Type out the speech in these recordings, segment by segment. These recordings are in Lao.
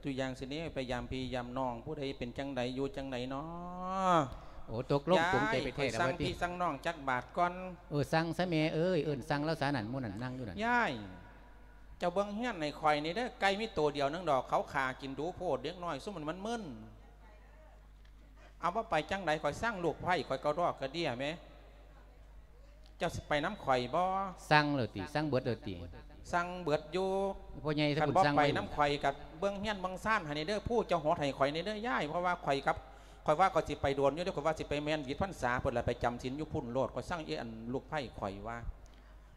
ຕົວຢ່າງຊີ້ນີ້ ໄປຢາມພີ່ຢາມນ້ອງ ຜູ້ໃດເປັນຈັ່ງໃດ ຢູ່ຈັ່ງໃດນໍ? ໂອ້ ຕົກລົງ ຍາຍ ປົງໃຈໄປແທ້ແລ້ວ ຂ້ອຍສັ່ງພີ່ສັ່ງນ້ອງຈັກບາດກ່ອນ. ເອີ ສັ່ງຊະແມ່ເອີຍ ເອີ້ນສັ່ງລາວຊະນັ້ນ ໝູ່ນັ້ນນັ່ງຢູ່ນັ້ນ. ຍາຍ ເຈົ້າເບິ່ງເຮືອນໃຫ້ຂ້ອຍແດ່ເດີ ໄກ່ມີໂຕດຽວໜຶ່ງດອກ ເຂົາຂ້າກິນດູໂພດ ເດັກນ້ອຍຊຸມມັນມັນມຶນ. ເອົາ ບໍ່ໄປຈັ່ງໃດ ຂ້ອຍສັ່ງລູກໃພ້ຂ້ອຍກະດອກກະເດຍແໝ. ເຈົ້າຊິໄປນຳຂ້ອຍບໍ່? ສັ່ງແລ້ວຕິ? ສັ່ງເບິດແລ້ວຕິ? ສັ່ງເບິດຢູ່. ພໍ່ໃຫຍ່ ຄັນບໍ່ໄປນຳຂ້ອຍກະເບິ່ງເຮືອນເບິ່ງຊານໃຫ້ແດ່ເດີ ພູເຈົ້າຫົດໃຫ້ຂ້ອຍແດ່ເດີຍາຍ ເພາະວ່າຂ້ອຍກັບ ຂ້ອຍວ່າຂ້ອຍຊິໄປໂດນຢູ່ເດ້ ຂ້ອຍວ່າຊິໄປແມ່ນວິດພັນສາພຸ້ນລະ ໄປຈຳສິນຢູ່ພຸ້ນໂລດ. ຂ້ອຍສັ່ງອີ່ອັນລູກໃພ້ຂ້ອຍວ່າ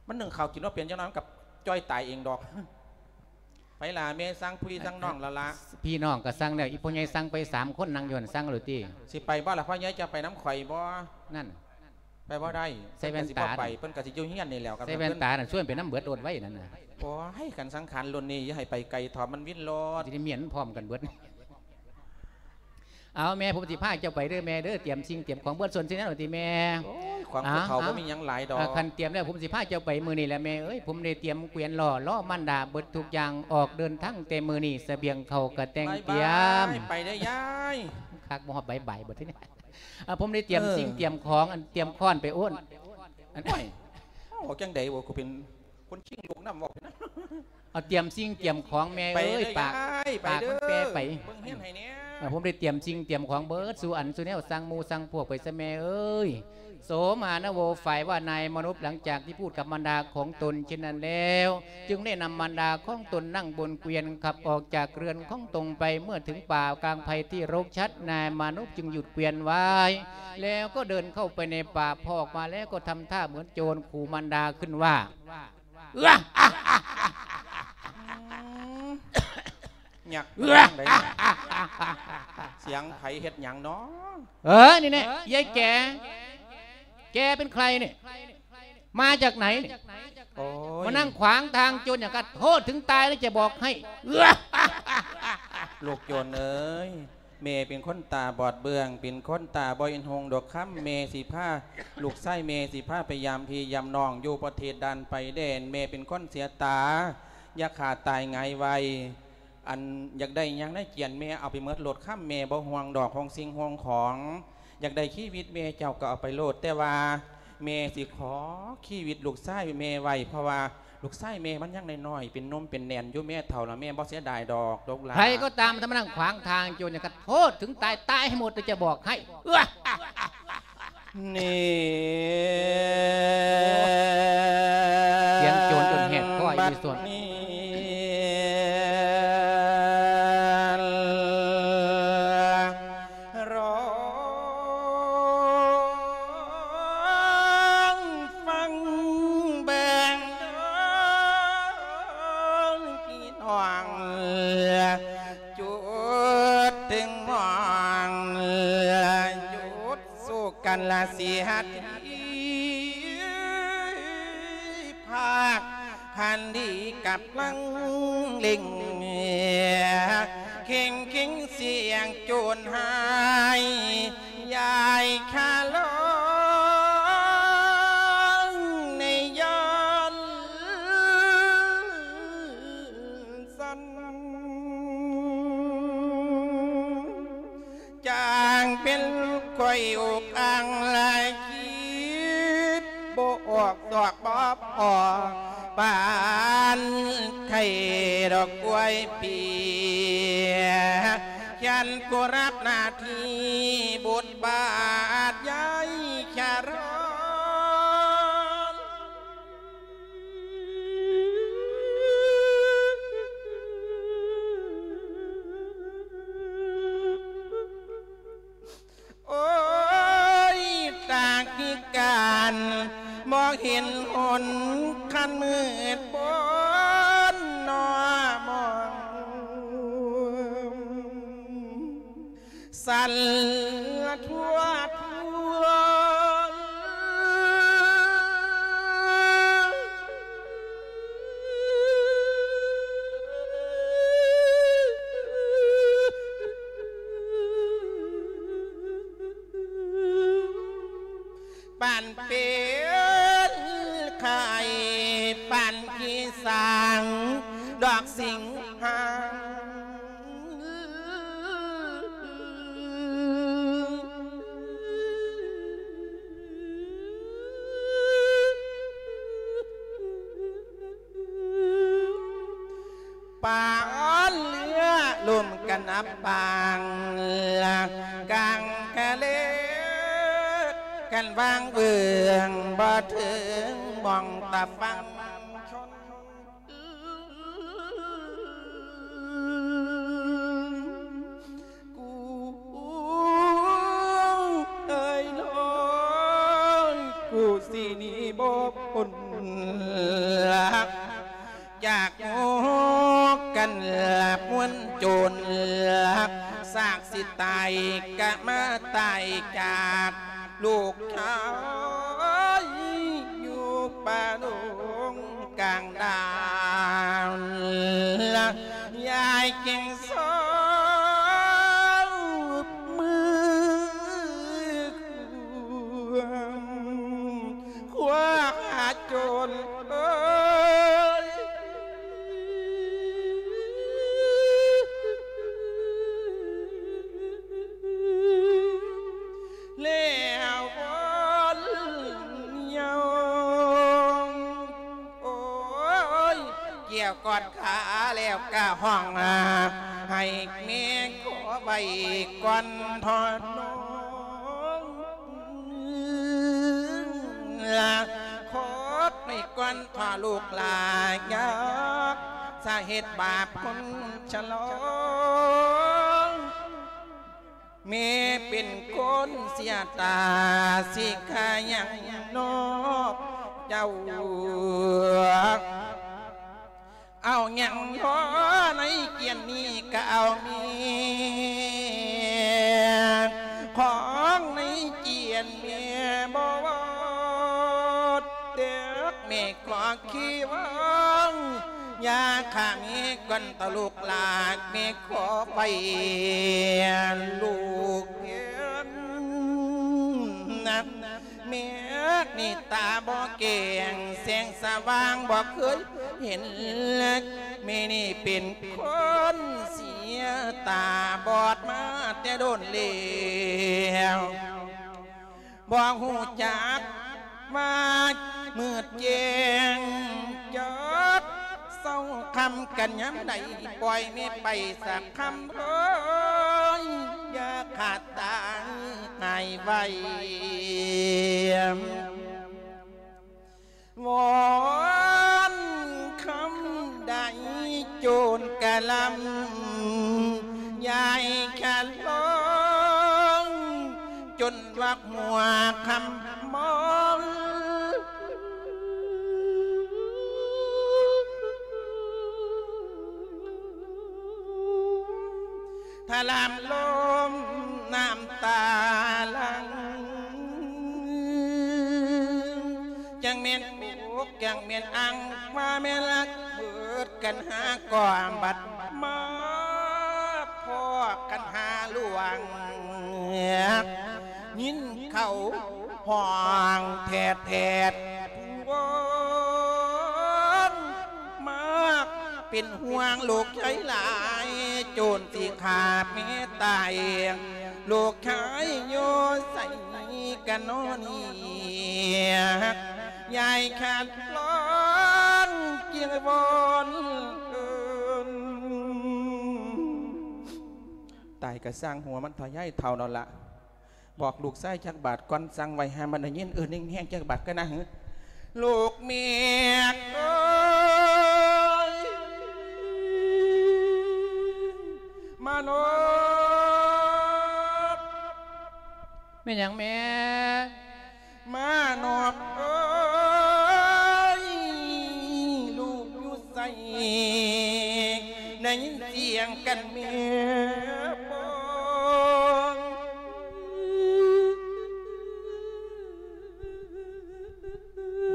ມັນໜຶ້ງເຂົ້າກິນບໍ່ເປັນ ຈັກໜ້ອຍມັນກະຈ່ອຍຕາຍເອງດອກ. ໄປລະແມ່ ສັ່ງພີ່ສັ່ງນ້ອງລະລະ. ພີ່ນ້ອງກະສັ່ງແລ້ວ ອີ່ພໍ່ໃຫຍ່ສັ່ງໄປສາມຄົນ ນັ່ງຢູ່ຫັ້ນ ສັ່ງແລ້ວຕິ? ຊິໄປບໍ່ລະພໍ່ໃຫຍ່ ເຈົ້າໄປນຳຂ້ອຍບໍ່? ນັ້ນ ໄປບໍ່ໄດ້. ໃສ່ແວ່ນຕາ ເພິ່ນກະຊິບໍ່ໄປ ເພິ່ນກະຊິຢູ່ເຮືອນນີ້ແຫຼ້ວ. ໃສ່ແວ່ນຕານັ້ນ ຊວນໄປນຳເບິດໂລດໄວ້ນັ້ນນະ. ໂອ້ຍ ຄັນສັງຂານລຸ້ນນີ້ ຢ່າໃຫ້ໄປໄກເຖາະ ມັນວິນໂລດ. ຊິໄດ້ເມຍນພ້ອມກັນເບິດ. ເອົາແມ່ ຜົມຊິພາເຈົ້າໄປເດີແມ່ເດີ ຕຽມສິ່ງຕຽມຂອງເບິດ ສ່ວນສິ່ງນັ້ນຕິແມ່. ໂອ້ຍ ຂອງຜູ້ເຖົ້າບໍ່ມີຫຍັງຫຼາຍດອກ. ຄັນຕຽມແລ້ວ ຜົມຊິພາເຈົ້າໄປມື້ນີ້ແຫຼະແມ່ເອີຍ. ຜົມໄດ້ຕຽມເກວຍນລໍ້ ລໍ້ມານດາເບິດທຸກຢ່າງ ອອກເດີນທາງແຕ່ມື້ນີ້ ສະບຽງເຂົ້າກະແຕ່ງຕຽມ. ບາຍບາຍ ໄປເດີຍາຍ. ຄັກບໍ່ຮອດບາຍບາຍ ບັດທີນີ້. ອາ ຜົມໄດ້ຕຽມ ເອີ ສິ່ງຕຽມຂອງ ອັນຕຽມຄ້ອນໄປໂອ້ນ ອັນ ໂອ້ຍ ເວົ້າຈັ່ງໃດບໍ່ ກູເປັນຄົນຄີງລູກນຳ ເວົ້າໄປນຳ. ເອົາ ຕຽມສິ່ງຕຽມຂອງແມ່ເອີຍ ໄປເດີຍາຍ ປາກ ໄປເດີ ມັນແປໄປ ເບິ່ງເຮືອນໃຫ້ແດ່. ເອີ ຜົມໄດ້ຕຽມສິ່ງຕຽມຂອງເບິດສູ່ອັນສູ່ແນວ ສັ່ງໝູ່ສັ່ງພວກໄປຊະແມ່ເອີຍ. ໂສມານະໂວ ຝ່າຍວ່ານາຍມານຸບ ຫຼັງຈາກທີ່ພູດກັບມານດາຂອງຕົນເຊັ່ນນັ້ນແລ້ວ ຈຶ່ງໄດ້ນຳມານດາຂອງຕົນນັ່ງບົນເກວຍນ ຂັບອອກຈາກເຮືອນຂອງຕົນໄປ. ເມື່ອເຖິງປ່າກາງໄຜ່ທີ່ລົກຊັດ ນາຍມານຸບຈຶ່ງຢຸດເກວຍນໄວ້ ແລ້ວກໍເດີນເຂົ້າໄປໃນປ່າ. ພໍອອກມາແລ້ວກໍທຳທ່າເໝືອນໂຈນ ຂູ່ມານດາຂຶ້ນວ່າ ອືມ ຍັກ ເອີ ຈັ່ງໃດ ສຽງໃຜເຮັດຫຍັງນໍ? ເອີ ນີ້ແນ່ ຍາຍແກ ແກເປັນໃຄນີ້? ມາຈາກໃນນີ້? ໂອ້ຍ ມານັ່ງຂວາງທາງໂຈນຫຍັງ? ກະໂທດເຖິງຕາຍແລ້ວຈະບອກໃຫ້. ລູກໂຈນເອີຍ ແມ່ເປັນຄົນຕາບອດເບື້ອງ ເປັນຄົນຕາບໍ່ເຫັນຮຸ່ງດອກຄຳ. ແມ່ຊິພາ ລູກຊາຍແມ່ຊິພາໄປຢາມພີ່ຢາມນ້ອງຢູ່ປະເທດດ່ານໄປແດນ. ແມ່ເປັນຄົນເສຍຕາ ຢ່າຂ້າຕາຍຫງາຍໄວ້. ອັນຢາກໄດ້ຫຍັງໃນກຽນແມ່ເອົາໄປໝົດໂລດຄຳ. ແມ່ບໍ່ຫ່ວງດອກ ຫ່ວງສິ່ງຫ່ວງຂອງ. ຢາກໄດ້ຊີວິດແມ່ເຈົ້າກໍເອົາໄປໂລດ ແຕ່ວ່າແມ່ຊິຂໍຊີວິດລູກຊາຍແມ່ໄວ້ ເພາະວ່າລູກຊາຍແມ່ມັນຍັງນ້ອຍໆ ເປັນໜຸ່ມເປັນແໜ້ນຢູ່. ແມ່ເຖົ້າລະແມ່ບໍ່ເສຍດາຍດອກ ລູກຫຼານ. ໃຜກໍຕາມທີ່ມານັ່ງຂວາງທາງໂຈນ ກະໂທດເຖິງຕາຍ ຕາຍໃຫ້ໝົດ ຈະບອກໃຫ້. ນີ້ ສຽງໂຈນຈົນແຫບຄໍອີ່ສ່ວນ. ບັດນີ້ ລອງຟັງເບິ່ງເດີພີ່ນ້ອງ ຈຸດເຖິງມອງ ຢຸດສູ້ກັນລະເສຍທີ ພາກຄັນດີກຳລັງເລັ່ງ ເຄັ່ງເຄັ່ງສຽງໂຈນຮ້າຍ ຢາຍຄາລອງໃນຍ້ອນ ສັນ ຈາງເປັນຂ້ອຍອົກອັ່ງ ລະຄິດບໍ່ອອກ ຕອກບໍ່ພໍ ປານໄຂ່ດອກກ້ວຍປີ ຂຽນກູຮັບໜ້າທີ່ບົດບາດ ຢາຍຄາລອງ ໂອ້ຍ ຕາພິການ ບໍ່ເຫັນຫົນ ຄັນມືດບົນໜໍ່ມອງ ສັ່ນລະທົວໆ ປານເປັນໄຂ້ ປານຂີ້ສາງ ດອກສິງຫາ ນະປາງ ກາງກະເລ ຄັນວາງເວືອງ ບໍ່ເຖິງໝ່ອງຕາຟັງຊົນ ກູເອີຍນ້ອຍ ກູຊິໜີບໍ່ພົ້ນ ຈາກໝູ່ກັນລະມວນໂຈນ ສາກຊິຕາຍກະມາຕາຍຈາກລູກຊາຍ ຢູ່ປ່າດົງກາງດານ ຍາຍຈຶ່ງຊອບມືຄວາມ ຄວ້າໂຈນເອີຍ ແລ້ວວອນຍອງ ໂອ້ຍ ກ່ຽວກອດຂາແລ້ວກະຮ້ອງ ໃຫ້ແມ່ຂໍໄວ້ກ່ອນເທາະນ້ອງ ຂໍໄວ້ກ່ອນເທາະລູກຫຼານ ຢາກສາເຫດບາບຄົນຊະລອງ ແມ່ເປັນຄົນເສຍຕາ ຊິຂາຫຍັງນອກເຈົ້າ ເອົາຫຍັງພໍໃນກຽນນີ້ກະເອົາແມ່ ຂອງໃນກຽນແມ່ບໍ່ເອົາ ແຕ່ແມ່ຂໍຄີວອງ ຢ່າຂ້າແມ່ກ່ອນເຖາະລູກຫຼານ ແມ່ຂໍໄປລູກແມ່ນ ແມ່ນີ້ຕາບໍ່ແກງ ແສງສະຫວ່າງບໍ່ເຄີຍເຫັນ ແມ່ນີ້ເປັນຄົນເສຍຕາບອດມາແຕ່ດົນແລ້ວ ບໍ່ຮູ້ຈັກວ່າມືດແຈ້ງ ຈັກເຊົ້າຄ່ຳກັນຍາມໃດ ປ່ອຍແມ່ໄປສາກຄ່ຳເອີຍ ຢ່າຂ້າຕາຍຫາຍໄວ ວອນຄຳໃດໂຈນກະລຳ ຍາຍຂະລອງ ຈົນວັກຫົວຄ່ຳມອງ ທະລາມລົມນ້ຳຕາຫຼັ່ງ ຈັ່ງແມ່ນອົກຈັ່ງແມ່ນອັ່ງ ມາແມ່ນລັກ ເບີດກັນຫາກອມ ບັດມາພໍ້ກັນຫາຫຼວງ ຍິນເຂົາຮ້ອງແທດໆ ວອນມາ ເປັນຫ່ວງລູກຊາຍຫຼາຍ ໂຈນຊິຂ້າແມ່ຕາຍ ລູກຊາຍຢູ່ໃສກັນນໍນີ້ ຍາຍຂະລອງຈຶ່ງວອນເອີ້ນ ຕາຍກະຊ່າງຫົວມັນເຖາະ ຍາຍເຖົ້ານັ້ນລະ ບອກລູກຊາຍຈັກບາດກ່ອນ ສັ່ງໄວ້ໃຫ້ມັນໄດ້ຍິນ ເອີ້ນແຮງໆຈັກບາດກ່ອນນະ ລູກແມ່ເອີຍ ມານອບ ແມ່ນຫຍັງແມ່? ມານອບເອີຍ ລູກຢູ່ໃສ ໄດ້ຍິນສຽງກັນແມ່ບອກ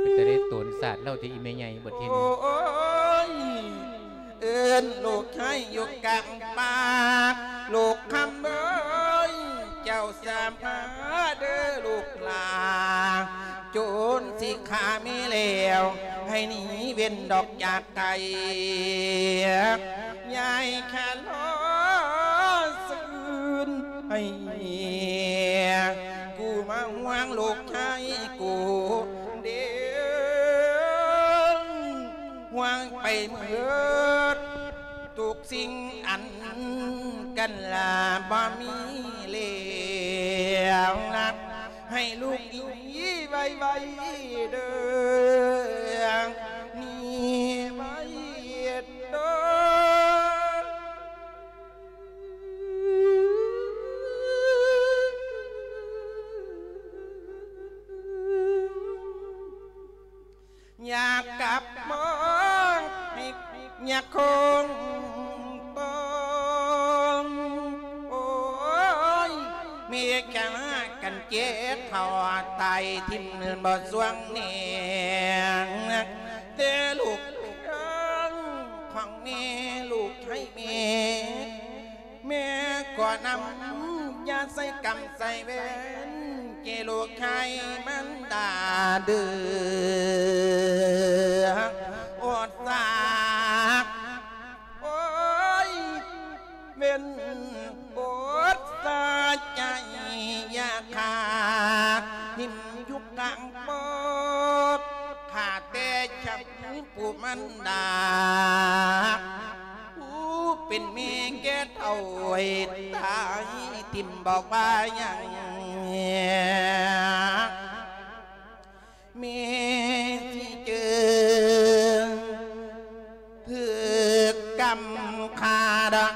ເປັນຕາໄດ້ໂຕນສາດເລົ່າແທ້ອີ່ແມ່ໃຫຍ່ ບັດທີນີ້ ໂອ້ຍ ເອີ້ນລູກຊາຍຢູ່ກາງປ່າ ລູກຄຳເອີຍ ເຈົ້າສາມາເດີລູກຫຼານ ໂຈນຊິຂ້າແມ່ແລ້ວ ໃຫ້ໜີເວັ້ນດອກຈາກໄກ ຍາຍຂະລໍຊືນໃຫ້ ກູມາຫ່ວງລູກຊາຍກູເດີ ຫ່ວງໄປເໝິດທຸກສິ່ງອັນ ອັນກັນລະບໍ່ມີແລ້ວນະ ໃຫ້ລູກດີໄວໆເດີ ໜີໄວເດີ. ຢາກກັບມາໃຫ້ຍາຄົງຕ້ອງ ໂອ້ຍ ເມກະມາກັນເຈັບເທົ່າຕາຍຖິ້ມບໍ່ຊ່ວງແນງ ແຕ່ລູກເອີຍ ຂອງແມ່ ລູກໃຫ້ແມ່ ແມ່ຂໍນຳ ຢ່າໃສ່ກຳໃສ່ເວນ ແກ່ລູກໃຫ້ມັນດາເດີ ອົດສາ ໂອ້ຍ ເວັນອົດສາໃຈ ຢ່າຂ້າຖິ້ມຢູ່ກາງປອກ ຂ້າແຕ່ຊຳຜູ້ມັນດາ ຜູ້ເປັນແມ່ແກ່ເຖົ້າ ຕາຍຖິ້ມບອກວ່າຫຍັງ ແມ່ຊິເຈີ ຖືກກຳຂ້າດອກ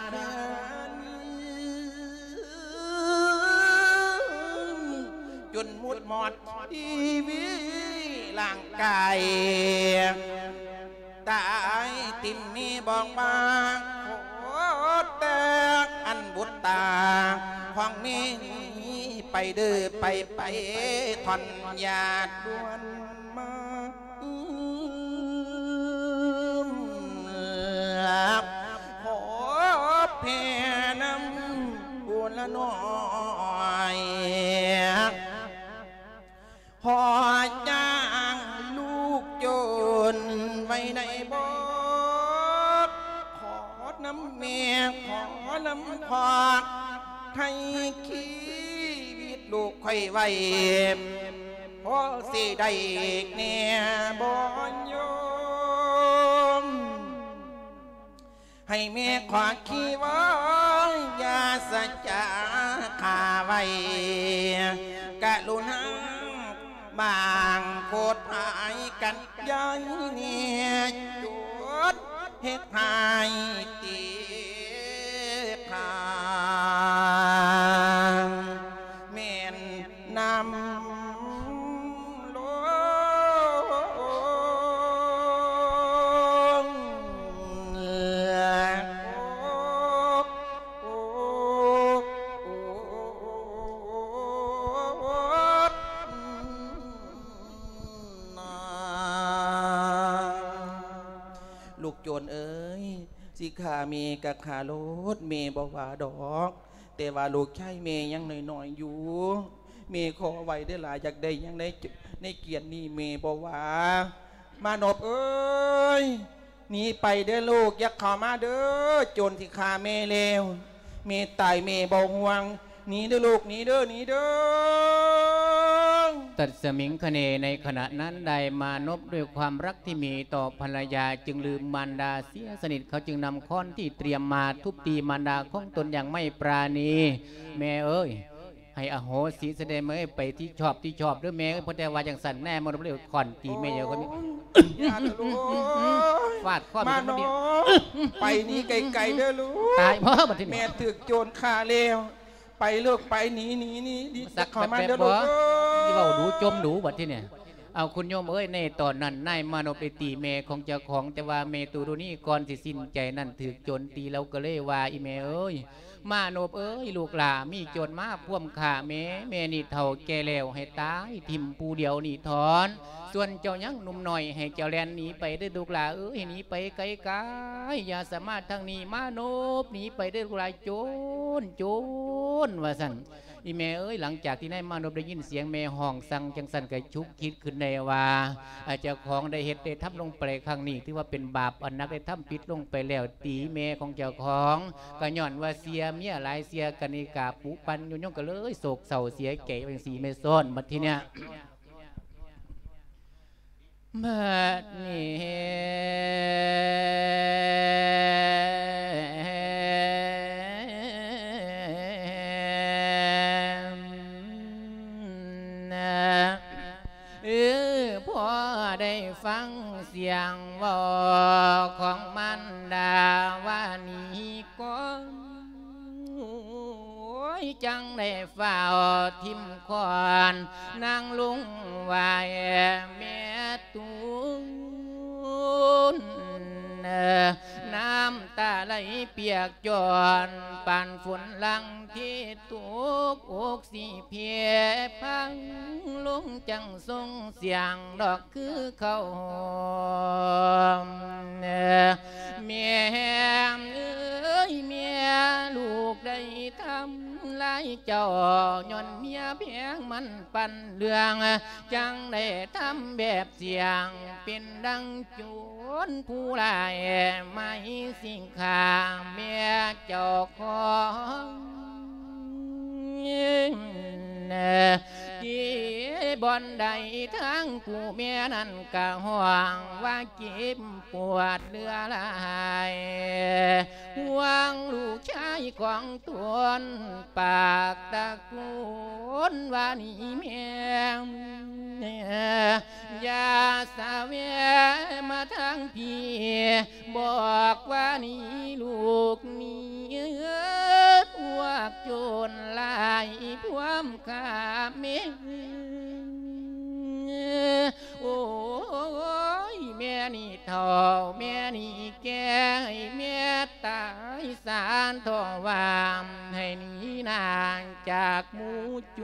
ຈົນໝົດໝອດຊີວິດຮ່າງກາຍ ຕາຍຖິ້ມແມ່ບອກວ່າ ຂໍແຕ່ອັນບຸດຕາຂອງແມ່ນີ້ໄປເດີ ໄປ ໄປ ທ່ອນຢາດດ່ວນມາ ຂໍແຜ່ນຳບຸນລະໜ້ອຍ ຂໍຈ້າງລູກໂຈນໄວ້ໄດ້ບໍ່? ຂໍນຳແມ່ ຂໍນຳພໍ່ ໃຫ້ຊີວິດລູກຂ້ອຍໄວ້ ພໍຊິໄດ້ແດ່ບໍ່ໂຍມ? ໃຫ້ແມ່ຂໍຄີວອນ ຢ່າສະຈາຂ້າໄວ້ ກະລຸນາບາງໂພດພາຍກັນ ຢ່າໃຫ້ແນ່ຈົດເຮັດໃຫ້ຕິຄາ ແມ່ນ ນຳລົງ ລູກໂຈນເອີຍ ຊິຂ້າແມ່ກະຂ້າໂລດ ແມ່ບໍ່ວ່າດອກ. ແຕ່ວ່າລູກຊາຍແມ່ຍັງນ້ອຍໆຢູ່ ແມ່ຂໍໄວ້ເດີ້ຫຼາ ຢາກໄດ້ຫຍັງໃນ ໃນກຽດນີ້ແມ່ບໍ່ວ່າ. ມານົບເອີຍ ໜີໄປເດີ້ລູກ ຢ່າເຂົ້າມາເດີ້ ໂຈນຊິຂ້າແມ່ແລ້ວ ແມ່ຕາຍແມ່ບໍ່ຫ່ວງ ໜີເດີ້ລູກ ໜີເດີ້ ໜີເດີ້. ຕັດສະມິງຄະເນ ໃນຂະນະນັ້ນໄດ້ມານົບດ້ວຍຄວາມລັກທີ່ມີຕໍ່ພັນລະຍາ ຈຶ່ງລືມມານດາເສຍສະໜິດ ເຂົາຈຶ່ງນຳຄ້ອນທີ່ຕຽມມາທຸບຕີມານດາຂອງຕົນຢ່າງໄມ່ປານີ. ແມ່ເອີຍ ໃຫ້ອະໂຫສິຊະເດແມ່ເອີຍ ໄປທີ່ຊອບທີ່ຊອບເດີ້ແມ່ເອີຍ ເພາະແຕ່ວ່າຈັ່ງຊັ້ນແນ່ ມາລົບເລີຍຄ້ອນຕີແມ່ເອີຍ ໂອ້ຍ ຢ່າເດີ້ລູກ ຟາດຄ້ອນ ມານອນ ໄປໜີໄກໆເດີ້ລູກ ຕາຍບໍ່ບັດທີນີ້ ແມ່ຖືກໂຈນຂ້າແລ້ວ ໄປລູກໄປ ໜີ ໜີ ໜີ ໜີ ສັກເຂົ້າມາເດີ້ລູກເອີຍ ຊິເວົ້າດູ ຈົ່ມດູບັດທີນີ້. ເອົາ ຄຸນໂຍມເອີຍ ໃນຕອນນັ້ນນາຍມານົບໄດ້ຕີແມ່ຂອງເຈົ້າຂອງ ແຕ່ວ່າແມ່ຕູລຸນີກ່ອນຊິສິ້ນໃຈນັ້ນຖືກໂຈນຕີ ລາວກໍເລີຍວ່າ ອີ່ແມ່ເອີຍ ມານົບເອີຍ ລູກຫຼ້າ ມີໂຈນມາພວມຂ້າແມ່ ແມ່ນີ້ເຖົ້າແກ່ແລ້ວ ໃຫ້ຕາຍຖິ້ມຜູ້ດຽວນີ້ຖອນ ສ່ວນເຈົ້າຍັງໜຸ່ມນ້ອຍ ໃຫ້ເຈົ້າແລ່ນໜີໄປເດີ້ລູກຫຼ້າເອີຍ ໃຫ້ໜີໄປໄກໆ ຢ່າສາມາດທາງນີ້ ມານົບໜີໄປເດີ້ລູກຫຼ້າ ໂຈນ ໂຈນ ວ່າຊັ້ນ. ອີ່ແມ່ເອີຍ ຫຼັງຈາກທີ່ນາຍມານົບໄດ້ຍິນສຽງແມ່ຮ້ອງສັ່ງຈັ່ງຊັ້ນ ກໍຊຸກຄິດຂຶ້ນໄດ້ວ່າ ອາ ເຈົ້າຂອງໄດ້ເຮັດໄດ້ທຳລົງໄປຄັ້ງນີ້ ຖືວ່າເປັນບາບອັນໜັກ ໄດ້ທຳຜິດລົງໄປແລ້ວ ຕີແມ່ຂອງເຈົ້າຂອງ ກໍຍ້ອນວ່າເສຍເມຍຫຼາຍ ເສຍກະນິກາປຸປັນຍຸຍົງ ກໍເລີຍໂສກເສົ້າເສຍໃຈຈັ່ງຊີ້ແມ່ຊ້ອນ ບັດທີເນີ້ຍ ບັດນີ້ ງເວົ້າຂອງມານດາວ່ານີ້ກ່ອນ ໂອ້ຍ ຈັ່ງໄດ້ຟ້າວຖິ້ມຄ້ອນນາງລົງໄຫວ້ແມ່ຕູນ ນ້ຳຕາໄຫຼປຽກຈອນ ປານຝົນຫຼັງທີ່ຕົກ ອົກຊິເພພັງລົງ ຈັ່ງສົ່ງສຽງດອກຄືເຂົ້າຫ້ອມ. ແມ່ເອີຍແມ່ ລູກໄດ້ທຳລາຍເຈົ້າ ຍ້ອນເມຍແພງມັນປັນເລື່ອງ ຈັ່ງໄດ້ທຳແບບສ່ຽງ ເປັນດັ່ງໂຈນຜູ້ຮ້າຍ ໝາຍຊິຂ້າແມ່ເຈົ້າຂອງ ທີ່ບ່ອນໃດທາງຜູ້ແມ່ນັ້ນກະຮ້ອງວ່າເຈັບປວດເຫຼືອຫຼາຍ ຫ່ວງລູກຊາຍຂອງຕົນ ປາກຕະໂກນວ່ານີ້ແມ່ ຢ່າສະແຫວະມາທາງພີ້ ບອກວ່ານີ້ລູກໜີ ພວກໂຈນຫຼາຍພວມຂ້າແມ່ ໂອ້ຍ ແມ່ນີ້ເຖົ້າ ແມ່ນີ້ແກ່ ໃຫ້ແມ່ຕາຍສາເຖາະວ່າ ໃຫ້ໜີໜ້າຈາກໝູ່ໂຈ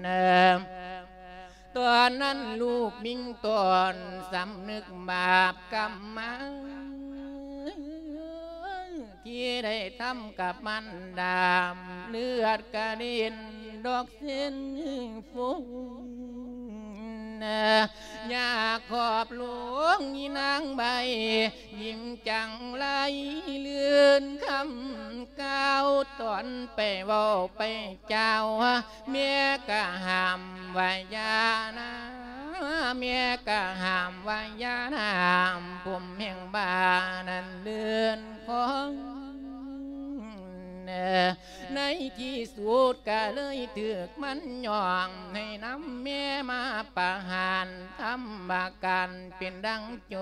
ນ. ຕອນນັ້ນລູກມິ່ງຕອນສຳນຶກບາບກຳມາ ທີ່ໄດ້ທຳກັບມັນດາ ເລືອດກະເດັນດອກເຊັ່ນຝົນ ຍາຂອບຫຼວງອີນາງໃບ ຍິງຈັງໄລລື່ນຄຳກ່າວ ຕອນໄປເວົ້າໄປ ເຈົ້າ ແມ່ກະຫ້າມວ່າຢ່ານາ ແມ່ກະຫ້າມວ່າຢ່ານາ ຜົມແຫ່ງບ້ານນັ້ນເລື່ອນຂອງ ໃນທີ່ສຸດກະເລີຍຖືກມັນຍ້ອງ ໃຫ້ນຳແມ່ມາປະຫານ ທຳບາການເປັນດັ່ງ ໂຈ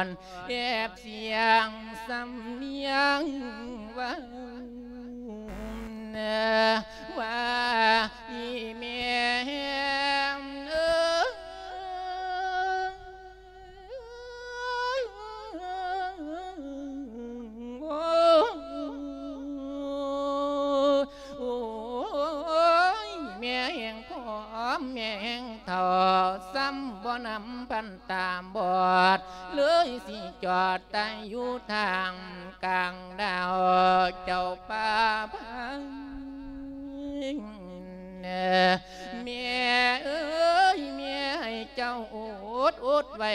ນແອບສຽງສຳນຽງເວົ້າ ວ່າອີແມ່ເອີຍ ໂອ້ຍ ແມ່ແຫ່ງຜອມ ແມ່ແຫ່ງເຖົ້າ ຊ້ຳບໍ່ນຳພັນຕາບອດ ເລີຍຊິຈອດຕາຍຢູ່ທາງກາງດາວ ເຈົ້າປ່າພັງ ແມ່ເອີຍ ແມ່ໃຫ້ເຈົ້າອົດອົດໄວ້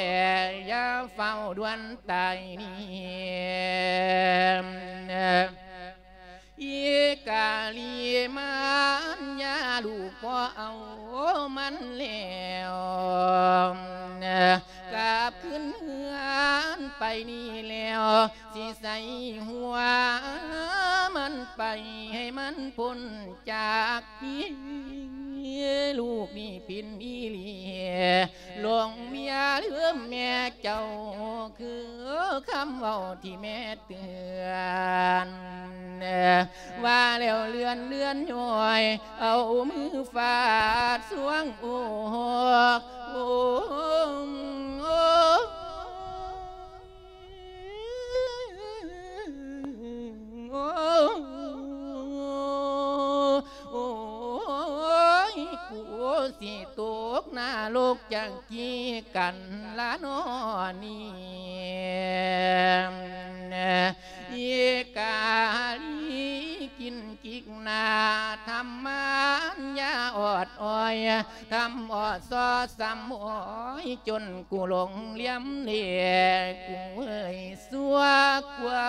ຢ່າຟ້າວດ່ວນຕາຍນີ້ ອີກາລີມານຍາລູກບໍ່ເອົາມັນແລ້ວ ກັບຄືນເຮືອນໄປນີ້ແລ້ວ ຊິໃສ່ຫົວມັນໄປໃຫ້ມັນພົ້ນຈາກພີ້ ລູກນີ້ຜິດອີ່ຫຼີ ຫຼົງເມຍລືມແມ່ເຈົ້າ ຄືຄຳເວົ້າທີ່ແມ່ເຕືອນ ວ່າແລ້ວເລື່ອນເລື່ອນຍ້ອຍ ເອົາມືຟາດສວງໂອກ ໂອກ ໂອກ ໂອ້ຍ ກູຊິຕົກນະລົກຈັກກີກັນລະນໍນີ້ ອີກາລີກິນ ກິກໜ້າ ທຳມານຢາອອດອອຍ ທຳອອດຊໍ້ຊຳອອຍ ຈົນກູຫຼົງຫຼຽມເລ ກູເອີຍຊົ່ວກວ່າ